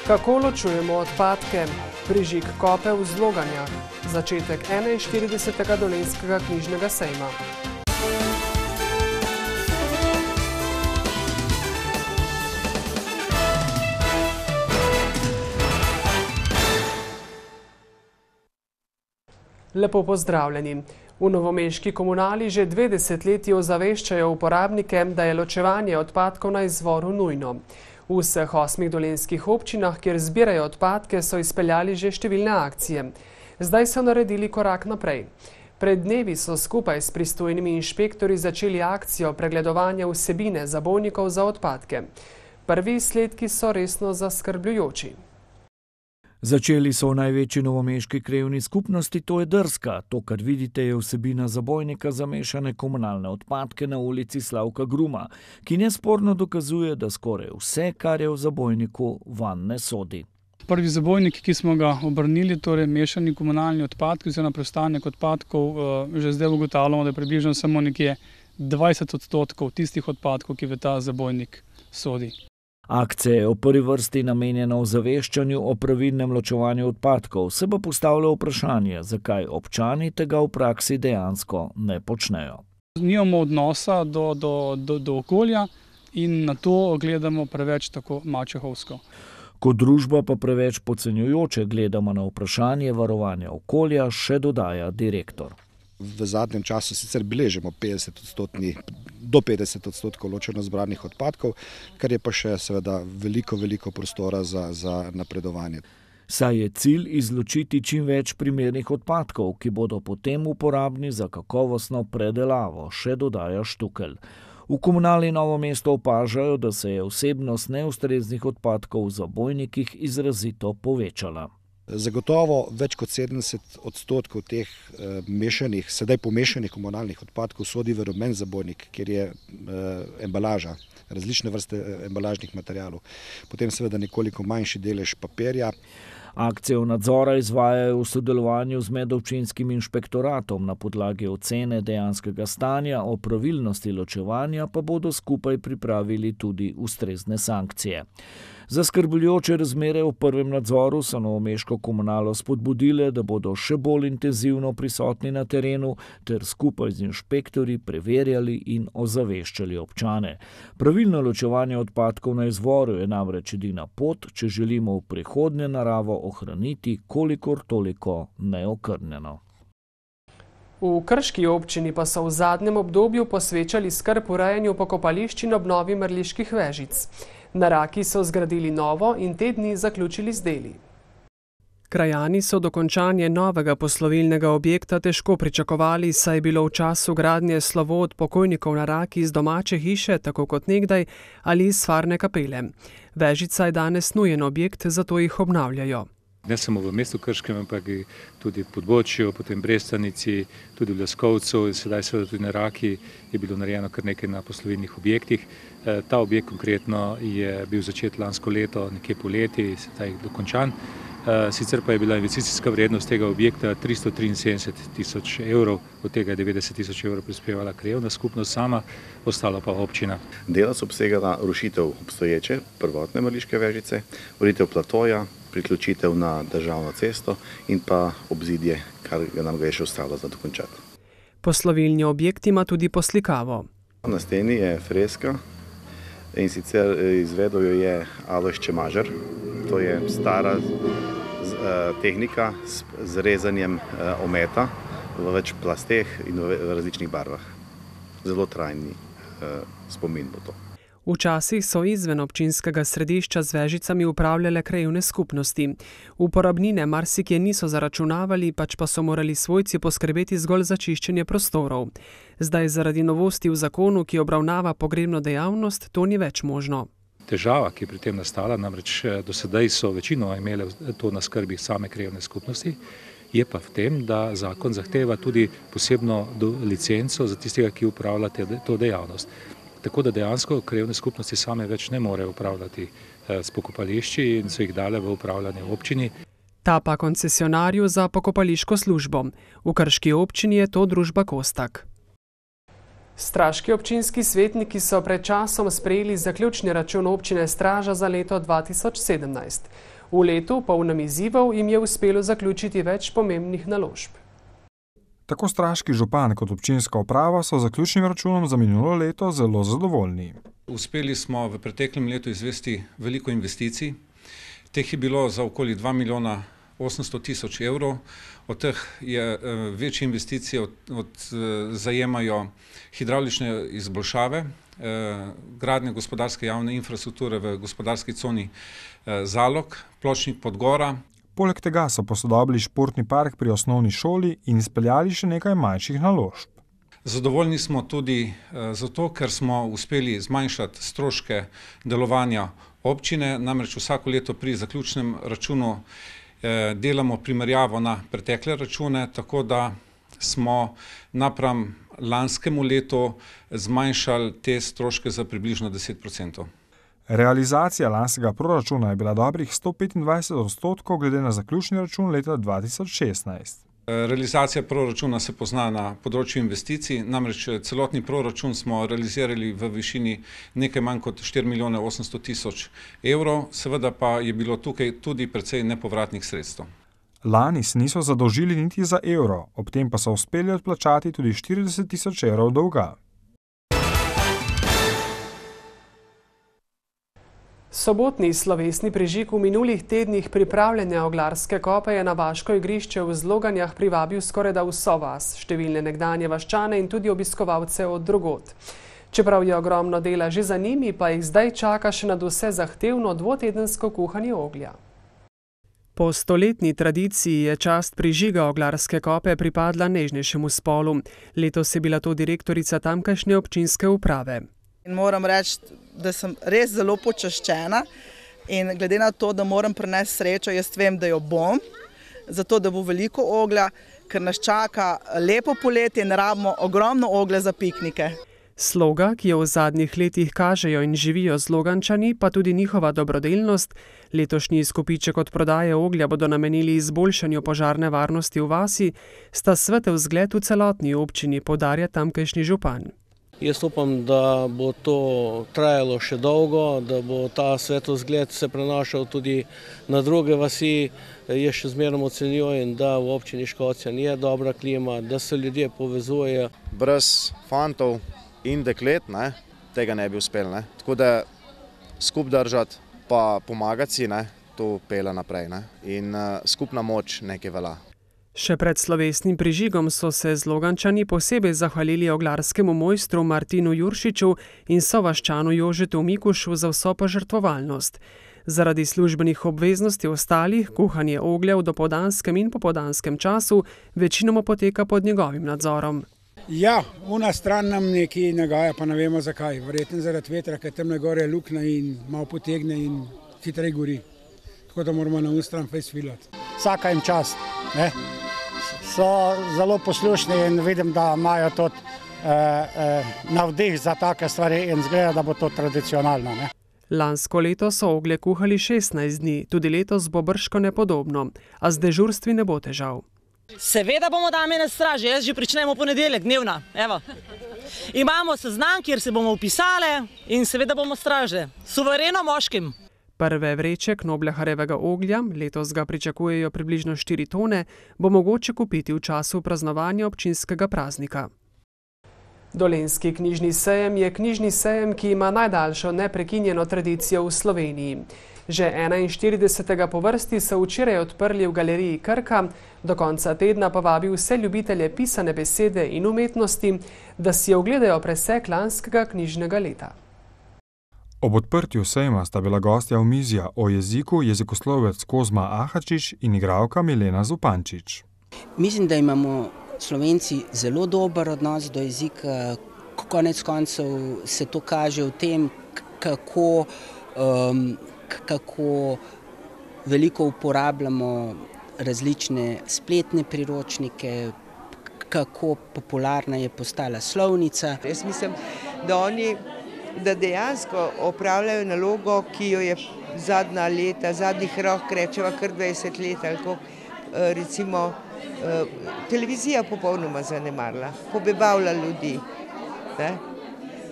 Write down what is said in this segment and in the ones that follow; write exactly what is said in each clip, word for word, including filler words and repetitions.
Kako ločujemo odpadke? Prižig kope v Zloganjah. Začetek enainštiridesetega dolenjskega knjižnega sejma. Lepo pozdravljeni. V novomeški komunali že dve desetletji ozaveščajo uporabnike, da je ločevanje odpadkov na izvoru nujno. V vseh osmih dolenjskih občinah, kjer zbirajo odpadke, so izpeljali že številne akcije. Zdaj so naredili korak naprej. Pred dnevi so skupaj s pristojnimi inšpektorji začeli akcijo pregledovanja vsebine zabojnikov za odpadke. Prvi izsledki so resno zaskrbljujoči. Začeli so v največji novomeški krajevni skupnosti, to je Drska. To, kar vidite, je vsebina zabojnika za mešane komunalne odpadke na ulici Slavka Gruma, ki nesporno dokazuje, da skoraj vse, kar je v zabojniku, vanj ne sodi. Prvi zabojnik, ki smo ga obrnili, torej mešani komunalni odpadki oziroma preostanek odpadkov, že zdaj ugotavljamo, da je približno samo nekje dvajset odstotkov tistih odpadkov, ki v ta zabojnik sodi. Akcija je v prvi vrsti namenjena ozaveščanju o pravilnem ločevanju odpadkov, se pa postavlja vprašanje, zakaj občani tega v praksi dejansko ne počnejo. Nimamo odnosa do, do, do, do okolja in na to gledamo preveč tako mačehovsko. Kot družba pa preveč podcenjujoče gledamo na vprašanje varovanja okolja, še dodaja direktor. V zadnjem času sicer beležimo petdeset odstotni, do petdeset odstotkov ločeno zbranih odpadkov, kar je pa še seveda veliko, veliko prostora za, za napredovanje. Saj je cilj izločiti čim več primernih odpadkov, ki bodo potem uporabni za kakovostno predelavo, še dodaja Štukelj. V komunali Novo mesto opažajo, da se je vsebnost neustreznih odpadkov v zabojnikih izrazito povečala. Zagotovo več kot sedemdeset odstotkov teh e, mešanih, sedaj pomešanih komunalnih odpadkov sodi v rumen zabojnik, kjer je e, embalaža, različne vrste embalažnih materialov. Potem seveda nekoliko manjši delež papirja. Akcijo nadzora izvajajo v sodelovanju z medobčinskim inšpektoratom. Na podlagi ocene dejanskega stanja o pravilnosti ločevanja pa bodo skupaj pripravili tudi ustrezne sankcije. Zaskrbljujoče razmere v prvem nadzoru so novomeško komunalo spodbudile, da bodo še bolj intenzivno prisotni na terenu ter skupaj z inšpektorji preverjali in ozaveščali občane. Pravilno ločevanje odpadkov na izvoru je namreč edina pot, če želimo v prihodnje naravo ohraniti kolikor toliko neokrnjeno. V krški občini pa so v zadnjem obdobju posvečali skrb urejanju pokopališč in obnovi mrliških vežic. Na Raki so zgradili novo in te dni zaključili z deli. Krajani so dokončanje novega poslovilnega objekta težko pričakovali, saj je bilo v času gradnje slovo od pokojnikov na Raki iz domače hiše, tako kot nekdaj, ali iz stvarne kapele. Vežica je danes nujen objekt, zato jih obnavljajo. Ne samo v mestu Krškem, ampak tudi v Podbočju, potem Brestanici, tudi v Leskovcu in sedaj seveda tudi na Raki je bilo narejeno kar nekaj na poslovilnih objektih. Ta objekt konkretno je bil začet lansko leto, nekje poleti, sedaj dokončan. Sicer pa je bila investicijska vrednost tega objekta tristo triinsedemdeset tisoč evrov, od tega je devetdeset tisoč evrov prispevala krajevna skupnost sama, ostalo pa občina. Dela so obsegala rušitev obstoječe, prvotne mrliške vežice, ureditev platoja, priključitev na državno cesto in pa obzidje, kar nam ga je še ostalo za dokončati. Poslovilni objekt ima tudi poslikavo. Na steni je freska in sicer izvedel jo je Alojz Čemažer. To je stara tehnika z rezanjem ometa v več plasteh in v različnih barvah. Zelo trajni spomin bo to. Včasih so izven občinskega središča z vežicami upravljale krajevne skupnosti. Uporabnine marsikje niso zaračunavali, pač pa so morali svojci poskrbeti zgolj za čiščenje prostorov. Zdaj zaradi novosti v zakonu, ki obravnava pogrebno dejavnost, to ni več možno. Težava, ki je pri tem nastala, namreč do sedaj so večino imele to na skrbi same krajevne skupnosti, je pa v tem, da zakon zahteva tudi posebno licenco za tistega, ki upravlja to dejavnost. Tako da dejansko krajevne skupnosti same več ne morejo upravljati s pokopališči in so jih dale v upravljanje občini. Ta pa koncesionarju za pokopališko službo. V Krški občini je to družba Kostak. Straški občinski svetniki so pred časom sprejeli zaključni račun občine Straža za leto dva tisoč sedemnajst. V letu, polnem izzivov, jim je uspelo zaključiti več pomembnih naložb. Tako straški župan kot občinska uprava so z zaključnim računom za minulo leto zelo zadovoljni. Uspeli smo v preteklem letu izvesti veliko investicij. Teh je bilo za okoli dva milijona osemsto tisoč evrov. Od teh je večje investicije od, od, zajemajo hidravlične izboljšave, gradnje gospodarske javne infrastrukture v gospodarski coni Zalog, Pločnik Podgora. Poleg tega so posodobili športni park pri osnovni šoli in izpeljali še nekaj manjših naložb. Zadovoljni smo tudi zato, ker smo uspeli zmanjšati stroške delovanja občine, namreč vsako leto pri zaključnem računu delamo primerjavo na pretekle račune, tako da smo napram lanskemu letu zmanjšali te stroške za približno deset procentov. Realizacija lanskega proračuna je bila dobrih sto petindvajset odstotkov glede na zaključni račun leta dva tisoč šestnajst. Realizacija proračuna se pozna na področju investicij, namreč celotni proračun smo realizirali v višini nekaj manj kot štiri milijone osemsto tisoč evrov, seveda pa je bilo tukaj tudi precej nepovratnih sredstev. Lani se niso zadolžili niti za evro, ob tem pa so uspeli odplačati tudi štirideset tisoč evrov dolga. Sobotni slovesni prižig v minulih tednih pripravljanja Oglarske kope je na vaško igrišče v Zloganjah privabil skorajda vso vas, številne nekdanje vaščane in tudi obiskovalce od drugod. Čeprav je ogromno dela že za njimi, pa jih zdaj čaka še nadvse zahtevno dvotedensko kuhanje oglja. Po stoletni tradiciji je čast prižiga Oglarske kope pripadla nežnejšemu spolu. Letos je bila to direktorica tamkajšnje občinske uprave. In moram reči, da sem res zelo počaščena in glede na to, da moram prinesti srečo, jaz vem, da jo bom, zato da bo veliko oglja, ker nas čaka lepo poletje in rabimo ogromno oglja za piknike. Sloga, ki jo v zadnjih letih kažejo in živijo Zlogančani, pa tudi njihova dobrodelnost, letošnji izkupiček od prodaje oglja bodo namenili izboljšanju požarne varnosti v vasi, sta svetel zgled v celotni občini, poudarja tamkajšnji župan. Jaz upam, da bo to trajalo še dolgo, da bo ta svetovzgled se prenašal tudi na druge vasi. Jaz še zmeraj ocenjujem, da v občini Škocjan je dobra klima, da se ljudje povezujejo. Brez fantov in deklet ne, tega ne bi uspeli. Ne. Tako da skup držati pa pomagati si, ne, to pele naprej. Ne. In uh, skupna moč nekaj velja. Še pred slovesnim prižigom so se Zlogančani posebej zahvalili oglarskemu mojstru Martinu Juršiču in sovaščanu Jožetu Mikušu za vso požrtvovalnost. Zaradi službenih obveznosti ostalih, kuhanje oglja v dopoldanskem in popoldanskem času večinoma poteka pod njegovim nadzorom. Ja, una stran nam nekaj nagaja, pa ne vemo zakaj. Verjetno zaradi vetra, ker tam gore je luknja in malo potegne in hitreje gori. Tako da moramo na un stran fejs filati. Vsaka jim čast, ne? So zelo poslušni in vidim, da imajo tudi eh, eh, navdih za take stvari in zgleda, da bo to tradicionalno. Ne? Lansko leto so oglje kuhali šestnajst dni, tudi letos bo bržkone podobno, a z dežurstvi ne bo težav. Seveda bomo dame na straži, jaz že pričnemo ponedeljek, dnevna. Evo. Imamo seznam, kjer se bomo upisali in seveda bomo straže, suvereno moškim. Prve vreče Knobleharjevega oglja, letos ga pričakujejo približno štiri tone, bo mogoče kupiti v času praznovanja občinskega praznika. Dolenjski knjižni sejem je knjižni sejem, ki ima najdaljšo neprekinjeno tradicijo v Sloveniji. Že enainštiridesetega po vrsti so včeraj odprli v galeriji Krka, do konca tedna pa vabi vse ljubitelje pisane besede in umetnosti, da si ogledajo presek lanskega knjižnega leta. Ob odprtju sejma sta bila gostja omizja o jeziku jezikoslovec Kozma Ahačič in igralka Milena Zupančič. Mislim, da imamo Slovenci zelo dober odnos do jezika. Konec koncev se to kaže v tem, kako, um, kako veliko uporabljamo različne spletne priročnike, kako popularna je postala slovnica. Jaz mislim, da oni da dejansko opravljajo nalogo, ki jo je zadnja leta, zadnjih rok rečeva kar dvajset let, ali ko recimo televizija popolnoma zanemarila, pobebavlja ljudi. Ne?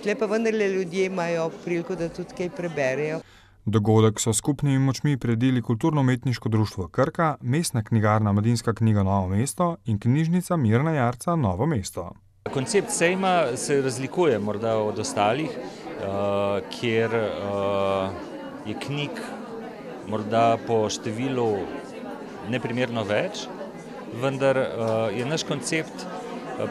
Tle pa vendarle ljudje imajo priliko, da tudi kaj preberejo. Dogodek so skupnimi močmi priredili Kulturno-umetniško društvo Krka, Mestna knjigarna Mladinska knjiga Novo mesto in knjižnica Mirna Jarca Novo mesto. Koncept sejma se razlikuje morda od ostalih, kjer je knjig morda po številu neprimerno več, vendar je naš koncept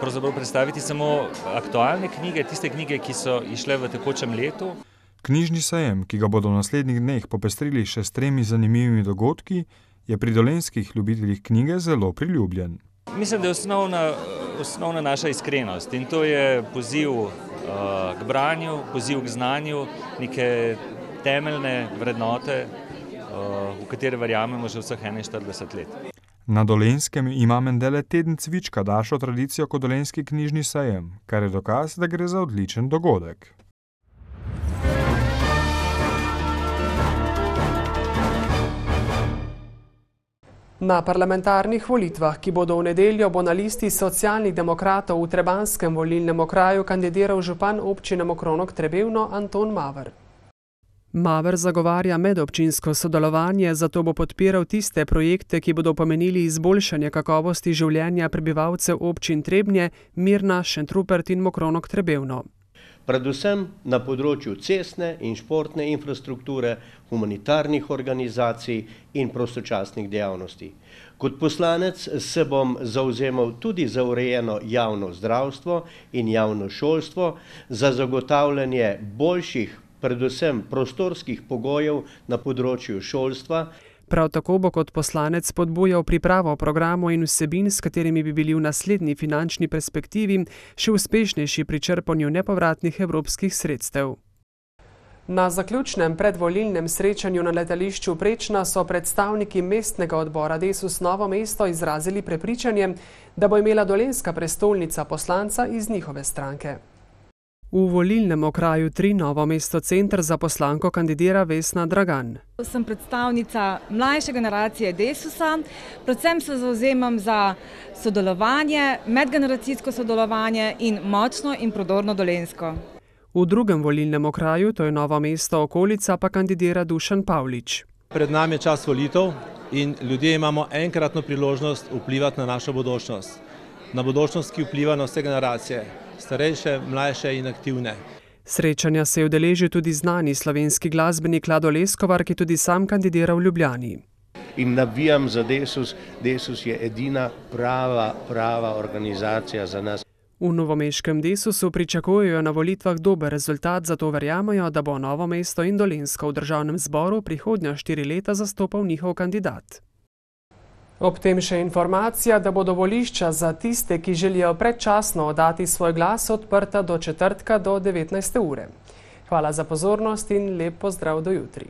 pravzaprav predstaviti samo aktualne knjige, tiste knjige, ki so išle v tekočem letu. Knjižni sejem, ki ga bodo v naslednjih dneh popestrili še s tremi zanimivimi dogodki, je pri dolenjskih ljubiteljih knjige zelo priljubljen. Mislim, da je osnovna, osnovna naša iskrenost in to je poziv uh, k branju, poziv k znanju, neke temeljne vrednote, uh, v katere verjamemo že vseh enainštirideset let. Na Dolenjskem ima mendele teden cvička daljšo tradicijo kot dolenjski knjižni sejem, kar je dokaz, da gre za odličen dogodek. Na parlamentarnih volitvah, ki bodo v nedeljo, bo na listi socialnih demokratov v trebanskem volilnem okraju kandidiral župan občine Mokronog Trebevno Anton Maver. Maver zagovarja medobčinsko sodelovanje, zato bo podpiral tiste projekte, ki bodo pomenili izboljšanje kakovosti življenja prebivalcev občin Trebnje, Mirna, Šentrupert in Mokronog Trebevno. Predvsem na področju cestne in športne infrastrukture, humanitarnih organizacij in prostočasnih dejavnosti. Kot poslanec se bom zavzemal tudi za urejeno javno zdravstvo in javno šolstvo, za zagotavljanje boljših, predvsem prostorskih pogojev na področju šolstva. Prav tako bo kot poslanec spodbujal pripravo programov in vsebin, s katerimi bi bili v naslednji finančni perspektivi še uspešnejši pri črpanju nepovratnih evropskih sredstev. Na zaključnem predvolilnem srečanju na letališču Prečna so predstavniki mestnega odbora Desus Novo mesto izrazili prepričanje, da bo imela dolenjska prestolnica poslanca iz njihove stranke. V volilnem okraju tri Novo mesto center za poslanko kandidira Vesna Dragan. Sem predstavnica mlajše generacije Desusa, predvsem se zavzemam za sodelovanje, medgeneracijsko sodelovanje in močno in prodorno dolenjsko. V drugem volilnem okraju, to je Novo mesto okolica, pa kandidira Dušan Pavlič. Pred nami je čas volitev in ljudje imamo enkratno priložnost vplivati na našo bodočnost. Na bodočnost, ki vpliva na vse generacije, starejše, mlajše in aktivne. Srečanja se je udeležil tudi znani slovenski glasbenik Lado Leskovar, ki tudi sam kandidira v Ljubljani. In navijam za Desus. Desus je edina prava, prava organizacija za nas. V novomeškem Desusu pričakujejo na volitvah dober rezultat, zato verjamajo, da bo Novo mesto in Dolenjsko v državnem zboru prihodnja štiri leta zastopal njihov kandidat. Ob tem še informacija, da bodo volišča za tiste, ki želijo predčasno oddati svoj glas, odprta do četrtka do devetnajste ure. Hvala za pozornost in lep pozdrav do jutri.